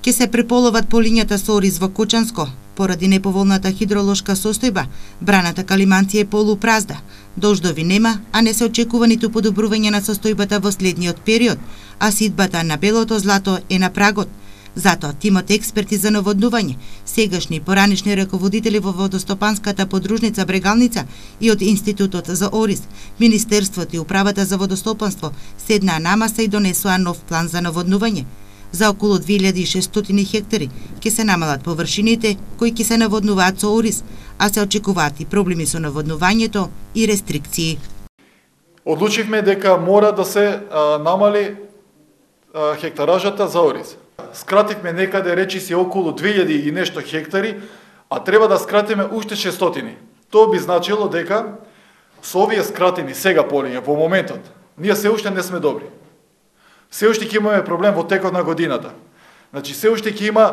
Ке се преполоват полињата со ориз во Кочанско. Поради неповолната хидролошка состојба, браната Калиманци е полупразна. Дождови нема, а не се очекува ниту подобрување на состојбата во следниот период, а сидбата на белото злато е на прагот. Затоа тимот експерти за наводнување, сегашни и поранешни раководители во водостопанската подружница Брегалница и од Институтот за ориз, Министерството и Управата за водостопанство седнаа на маса и донесоа нов план за наводнување. За околу 2600 хектари ќе се намалат површините кои ќе се наводнуваат со ориз, а се очекуваат и проблеми со наводнувањето и рестрикции. Одлучивме дека мора да се намали хектаражата за ориз. Скративме некаде речиси околу 2000 и нешто хектари, а треба да скратиме уште 600. Тоа би значило дека со овие скратени сега полиња во моментот, ние се уште не сме добри. Се уште ќе имаме проблем во текот на годината. Значи се уште ќе има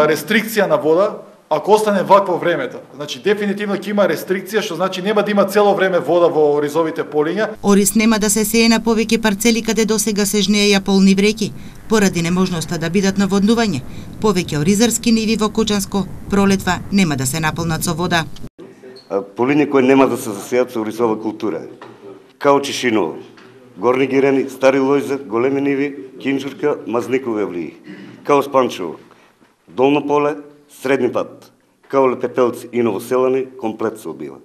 рестрикција на вода ако остане вакво времето. Значи дефинитивно ќе има рестрикција, што значи нема да има цело време вода во оризовите полиња. Ориз нема да се сее на повеќе парцели каде досега се жнееја полни вреки, поради неможноста да бидат наводнување. Повеќе оризарски ниви во Кочанско пролетва нема да се наполнат со вода. Полиња кои нема да се засеат со оризова култура, као Чишиново, Горни Гирени, Стари Лојза, Големи ниви, Кинџурка, Мазникови авлии, као Спанчево, Долно поле, Средни пат, као Лепепелци и Новоселани, комплет се убива.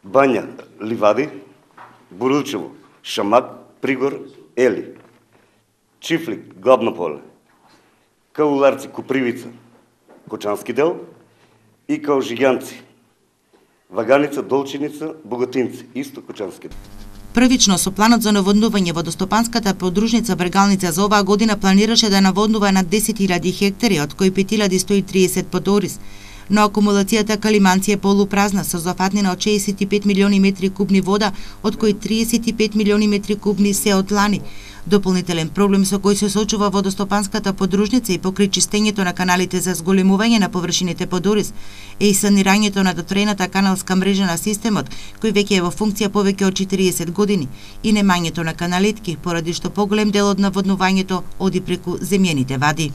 Бања, Ливади, Бурилчево, Шамак, Пригор, Ели, Чифлик, Главно поле, као Ларци, Копривица, Кочански дел и као Жиганци, Ваганица, Долчиница, Богатинци, исто Кочански дел. Првично со планот за наводнување водостопанската подружница Брегалница за оваа година планираше да наводнува над 10.000 хектари, од кои 5.130 под ориз. Но акумулацијата Калиманци е полупразна со зафатнина од 65 милиони метри кубни вода, од кои 35 милиони метри кубни се од лани. Дополнителен проблем со кој се соочува водостопанската подружница и покрај чистењето на каналите за зголемување на површините под ориз е и санирањето на дотрената каналска мрежа на системот, кој веќе е во функција повеќе од 40 години, и немањето на каналетки, поради што поголем дел од наводнувањето оди преку земјените вади.